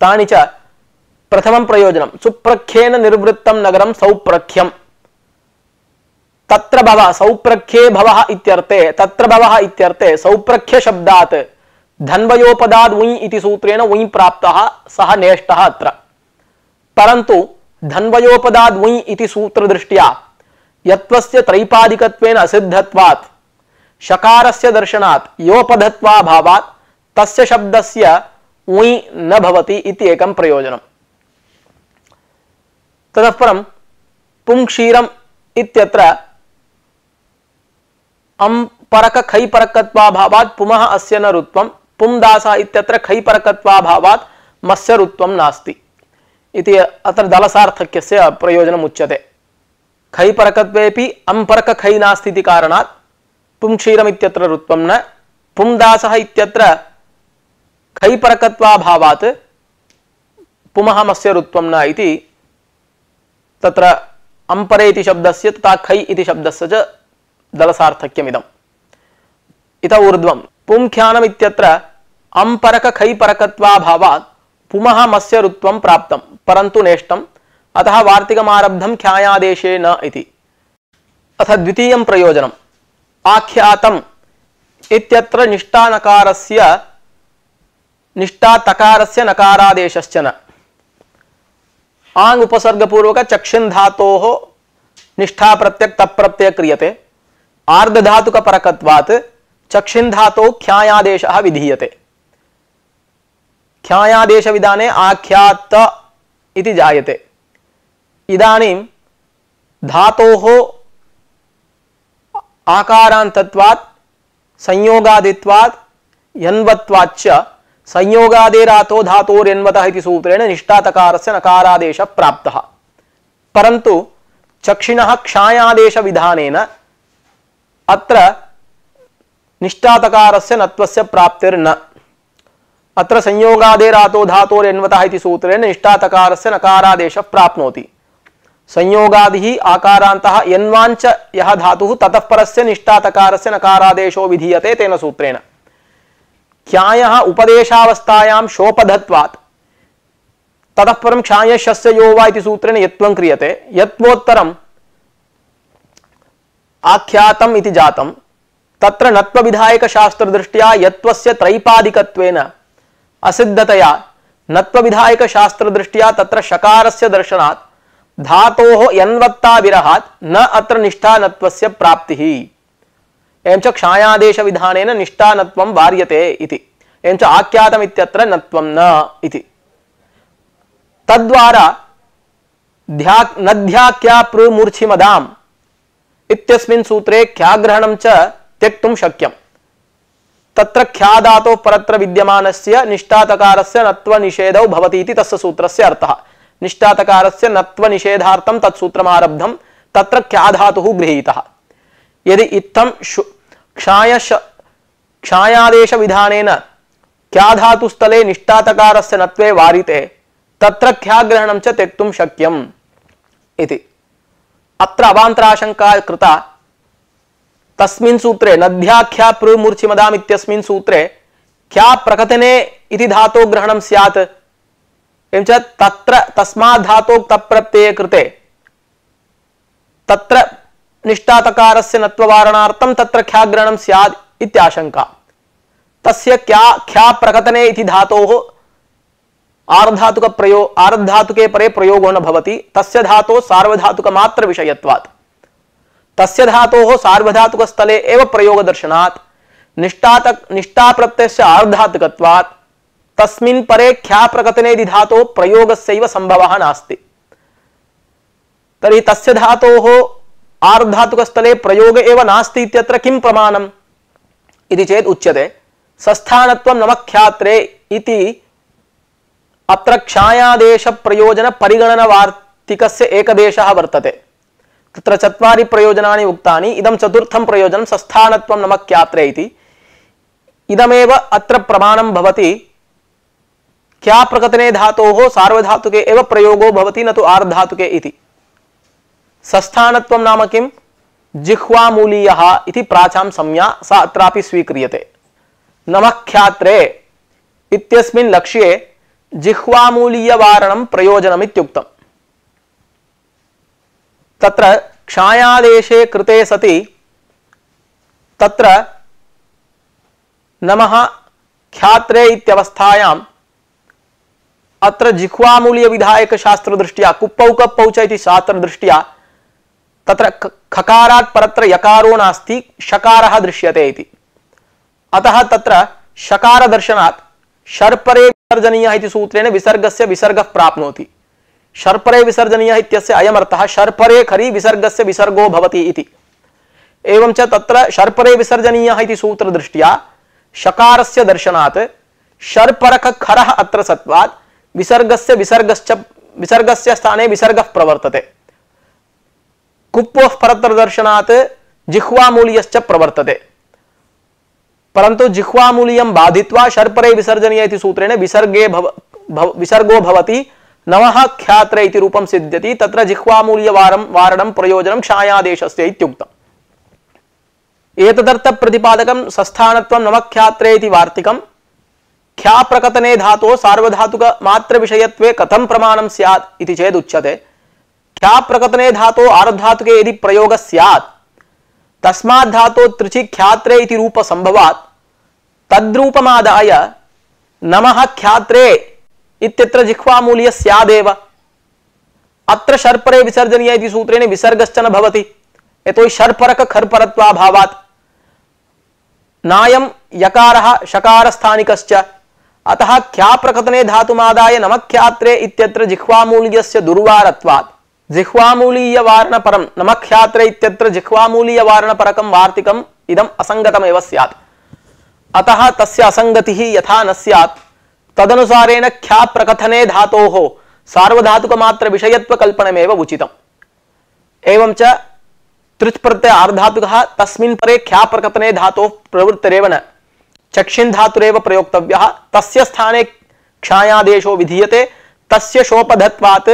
तानि च प्रथमं प्रयोजनं सुप्रख्येन निर्वृत्तं नगरं सौप्रख्यं। तत्र भवः सौप्रख्ये भवः इत्यर्थे तत्र भवः इत्यर्थे सौप्रख्य शब्दात् धन्वयोपदाद् उञ् इति सूत्रेण उञ् प्राप्तः सः नेष्टः अत्र। परन्तु धन्वयोपदाद् उञ् इति सूत्रदृष्ट्या यत्वस्य त्रैपादिकत्वेन असिद्धत्वात् शकारस्य दर्शनात् योपधत्वाभावात् तस्य शब्दस्य उञ् न भवति इति एकं प्रयोजनम्। ततः परं पुंक्षीरम् इत्यत्र परक खैपरकत्वाभावात् पुमः अस्य न रुत्वं, पुंदासः इत्यत्र खैपरकत्वाभावात् मस्य रुत्वं नास्ति इति अत्र दलसार्थक्यस्य प्रयोजनम् उच्यते। खैपरकत्वेपि अम्परक खै नास्ति इति कारणात् पुंक्षीरम् इत्यत्र रुत्वं न, पुंदासः इत्यत्र खैपरकत्वाभावात् पुमः मस्य रुत्वं न इति तत्र अम्परे इति शब्दस्य तथा खै इति शब्दस्य च दलसार्थक्यमिदम्। इत ऊर्ध्वं पुंख्यानम् इत्यत्र अम्परक खैपरकत्वाभावात् पुमः मस्य रुत्वं प्राप्तं परन्तु नेष्टम्, अतः वार्तिकमारब्धं ख्यायादेशे न इति। अथ द्वितीयं प्रयोजनम् आख्यातम् इत्यत्र निष्ठा नकारादेशश्च न। आङ् उपसर्गपूर्वक चक्षिन् धातोः निष्ठा प्रत्यक् तप् प्रत्यय क्रियते। आर्धधातुक परकत्वात् चक्षिन् धातोः ख्यायादेशः विधीयते। ख्यायादेश विधाने आख्यात इति जायते। इदानीं धातोः आकारान्तत्वात् संयोगादित्वात् यन्वत्वाच्च संयोगादेरातो धातोर्यन्वतः इति सूत्रेण निष्ठातकारस्य नकारादेशः प्राप्तः। परन्तु चक्षिणः क्षायादेश विधानेन अत्र निष्ठातकारस्य नत्वस्य प्राप्तिर्न। अत्र संयोगादेरातो धातोर्यन्वतः इति सूत्रेण निष्ठातकारस्य नकारादेशः प्राप्नोति। संयोगादिः आकारान्तः यन्वाञ्च यः धातुः ततः परस्य निष्ठातकारस्य नकारादेशो विधीयते तेन सूत्रेण। ख्यायः उपदेशावस्थायां शोपधत्वात् ततः परं ख्यायशस्य यो वा इति सूत्रेण यत्वं क्रियते। यत्वोत्तरम् आख्यातम् इति जातं। तत्र नत्वविधायकशास्त्रदृष्ट्या यत्वस्य त्रैपादिकत्वेन असिद्धतया नत्वविधायकशास्त्रदृष्ट्या तत्र शकारस्य दर्शनात् धातोः यन्वत्ता विरहात् न अत्र निष्ठानत्वस्य प्राप्तिः। एवं च क्षायादेश विधानेन निष्ठानत्वं वार्यते इति। एवं च आख्यातम् इत्यत्र नत्वं न इति। तद्वारा नध्याख्या प्रमूर्छिमदाम् इत्यस्मिन् सूत्रे ख्याग्रहणं च त्यक्तुं शक्यम्। तत्र ख्या धातोः परत्र विद्यमानस्य निष्ठातकारस्य नत्वनिषेधौ भवति इति तस्य सूत्रस्य अर्थः। निष्ठातकारस्य नत्वनिषेधार्थं तत्सूत्रमारब्धं तत्र ख्या धातुः गृहीतः। यदि इत्थं क्षायादेश विधानेन ख्या धातुस्थले निष्ठातकारस्य नत्वे वारिते तत्र ख्याग्रहणं च त्यक्तुं शक्यम् इति। अत्र अवान्तराशंका कृता। तस्मिन् सूत्रे नध्याख्या प्रमूर्छिमदाम् इत्यस्मिन् सूत्रे ख्या प्रकथने इति धातो ग्रहणं स्यात्। एवं च तत्र तस्मात् धातोः तप् प्रत्यये कृते तत्र निष्ठातकारस्य नत्ववारणार्थं तत्र ख्याग्रहणं स्यात् इत्याशंका। तस्य ख्या प्रकथने इति धातोः आर्धधातुके परे प्रयोगो न भवति। तस्य धातोः सार्वधातुक मात्र विषयत्वात् तस्य धातोः सार्वधातुकस्थले एव प्रयोगदर्शनात् निष्ठा प्रत्ययस्य आर्धधातुकत्वात् तस्मिन् परे ख्या प्रकथने इति धातोः प्रयोगस्यैव संभवः नास्ति। तर्हि तस्य धातोः आर्धधातुकस्थले प्रयोग एव नास्ति इत्यत्र किं प्रमाणम् इति चेत् उच्यते सस्थानत्वं नमख्यात्रे इति अत्र क्षायादेश प्रयोजन परिगणन वार्तिकस्य एकदेशः वर्तते। तत्र चत्वारि प्रयोजनानि उक्तानि। इदं चतुर्थं प्रयोजनं सस्थानत्वं नमख्यात्रे इति। इदमेव अत्र प्रमाणं भवति। ख्या प्रकथने धातोः सार्वधातुके एव प्रयोगो भवति न तु आर्धधातुके इति। सस्थानत्वं नाम किं? जिह्वामूलीयः इति प्राचां संज्ञा सा अत्रापि स्वीक्रियते। नमख्यात्रे इत्यस्मिन् लक्ष्ये जिह्वामूलीयवारणं प्रयोजनम् इत्युक्तम्। तत्र क्षायादेशे कृते सति तत्र नमः ख्यात्रे इत्यवस्थायाम् अत्र जिह्वामूलीय विधायक शास्त्र दृष्ट्या कुप्पौ कप्पौ च इति शास्त्र दृष्ट्या तत्र खकारात् परत्र यकारो नास्ति, शकारः दृश्यते इति। अतः तत्र शकार दर्शनात् शर्परे विसर्जनीयः इति सूत्रेण विसर्गस्य विसर्गः प्राप्नोति। शर्परे विसर्जनीयः इत्यस्य अयमर्थः शर्परे खरि विसर्गस्य विसर्गो भवति इति। एवं च तत्र शर्परे विसर्जनीयः इति सूत्रदृष्ट्या शकारस्य दर्शनात् शर्परक खरः अत्र सत्वात् विसर्गस्य विसर्गस्य स्थाने विसर्गः प्रवर्तते। कुप्पोः परत्र दर्शनात् जिह्वामूलीयश्च प्रवर्तते, परन्तु जिह्वामूलीयं बाधित्वा शर्परे विसर्जनीय इति सूत्रेण विसर्गो भवति, नमः ख्यात्रे इति रूपं सिद्ध्यति। तत्र जिह्वामूलीयवारणं प्रयोजनं क्षायादेशस्य इत्युक्तम्। एतदर्थ प्रतिपादकं सस्थानत्वं नमख्यात्रे इति वार्तिकं। ख्या प्रकटने धातो सार्वधातुक मात्र विषयत्वे कथं प्रमाणं स्यात् इति चेद उच्यते। ख्या प्रकटने धातो आर्धातुके यदि प्रयोग स्यात् तस्मात् धातो त्रिचि ख्यात्रे इति रूप संभवात् तद्रूपमादाय नमः ख्यात्रे इत्यत्र जिह्वामूल्य स्यादेव। अत्र शर्परे विसर्जनीय इति सूत्रेण विसर्गश्च न भवति, यतो हि शर्परक खर्परत्वाभावात्। नायं यकारः शकारस्थानिकश्च, अतः ख्या प्रकटने धातुमादाय नमख्यात्रे इत्यत्र जिह्वामूल्यस्य दुर्वारत्वात् जिह्वामूलीयवारणपरं नमख्यात्रे इत्यत्र जिह्वामूलीयवारणपरकं वार्तिकम् इदम् असंगतमेव स्यात्। अतः तस्य असंगतिः यथा न स्यात् तदनुसारेण ख्या प्रकथने धातोः सार्वधातुकमात्र विषयत्वकल्पनमेव उचितम्। एवं च तृच् प्रत्यय आर्धातुकः तस्मिन् परे ख्या प्रकथने धातोः प्रवृत्तिरेव न, चक्षिन् धातुरेव प्रयोक्तव्यः। तस्य स्थाने क्षायादेशो विधीयते। तस्य शोपधत्वात्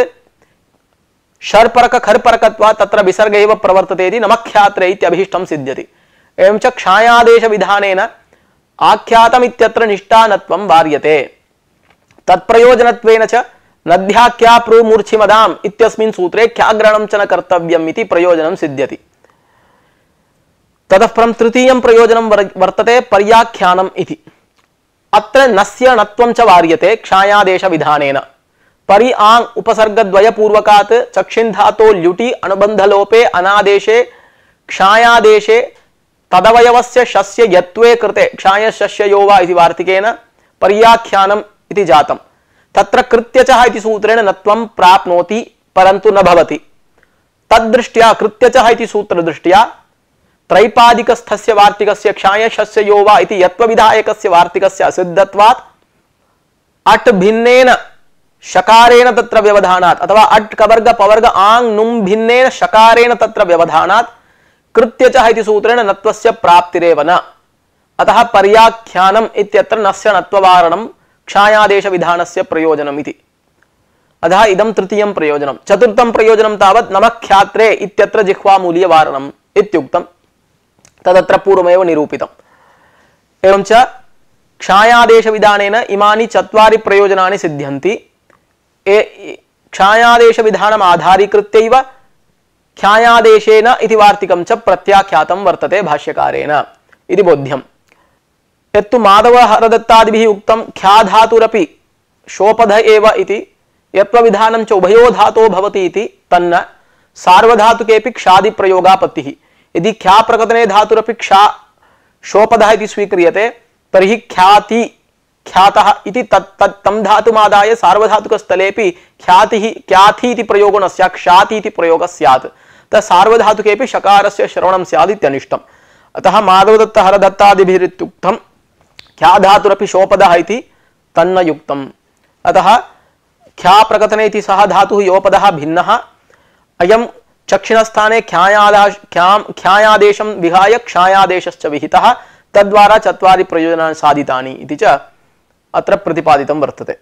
शर्परक खर्परकत्वात् तत्र विसर्ग एव प्रवर्तते इति नमख्यात्रे इत्यभिष्टं सिद्ध्यति। एवं च क्षायादेश विधानेन आख्यातमित्यत्र निष्ठानत्वं वार्यते। तत्प्रयोजनत्वेन च नद्याख्या प्रूमूर्च्छिमदाम् इत्यस्मिन् सूत्रे ख्याग्रहणं च न कर्तव्यम् इति प्रयोजनं सिद्ध्यति। ततः परं तृतीयं प्रयोजनं वर्तते पर्याख्यानम् इति। अत्र नस्य णत्वं च वार्यते क्षायादेश विधानेन। परि आंग उपसर्गद्वय पूर्वकात् चक्षिन् धातो ल्युटि अनुबन्धलोपे अनादेशे क्षायादेशे तदवयवस्य शस्य यत्वे कृते क्षायशस्ययो वा इति वार्तिकेन पर्याख्यानम् इति जातम्। तत्र कृत्यचः इति सूत्रेण नत्वं प्राप्नोति, परन्तु न भवति। तद्दृष्ट्या कृत्यचः इति सूत्रदृष्ट्या त्रैपादिकस्थस्य वार्तिकस्य क्षायशस्ययो वा इति यत्वविधायकस्य वार्तिकस्य असिद्धत्वात् अट् भिन्नेन शकारेण तत्र व्यवधानात् अथवा अट् कवर्ग पवर्ग आंग नुम् भिन्नेन शकारेण तत्र व्यवधानात् कृत्यचः इति सूत्रेण नत्वस्य प्राप्तिरेव न। अतः पर्याख्यानम् इत्यत्र नस्य नत्ववारणं क्षायादेश विधानस्य प्रयोजनम् इति। अतः इदं तृतीयं प्रयोजनं। चतुर्थं प्रयोजनं तावत् नमख्यात्रे इत्यत्र जिह्वामूलीयवारणम् इत्युक्तं। तदत्र पूर्वमेव निरूपितम्। एवं च क्षायादेश विधानेन इमानि चत्वारि प्रयोजनानि सिद्ध्यन्ति। क्षायादेश विधानम् आधारीकृत्यैव ख्यायादेशेन इति वार्तिकं च प्रत्याख्यातं वर्तते भाष्यकारेण इति बोध्यम्। यत्तु माधव हरदत्तादिभिः उक्तं ख्याधातुरपि शोपध एव इति यत्त्वविधानं च उभयो धातो भवति इति तन्न सार्वधातुकेपि क्षादि प्रयोगापत्तिः। यदि ख्या प्रकटने धातुरपिକ୍ଷା शोपधः इति स्वीक्रियते तर्हि ख्याति ख्यातः इति तं धातुमादाय सार्वधातुकस्थलेपि ख्यातिः ख्याति इति प्रयोगो न स्यात्, क्षाति इति प्रयोगः स्यात्। सार्वधातुकेपि शकारस्य श्रवणं स्यात् इत्यनिष्टम्। अतः माधवदत्त हरदत्तादिभिरित्युक्तं ख्याधातुरपि शोपदः इति तन्न युक्तम्। अतः ख्या प्रकटने इति सः धातुः योपदः भिन्नः। अयं चक्षिणस्थाने ख्यायादेशं विहाय क्षायादेशश्च विहितः। तद्वारा चत्वारि प्रयोजनानि साधितानि इति च अत्र प्रतिपादितं वर्तते।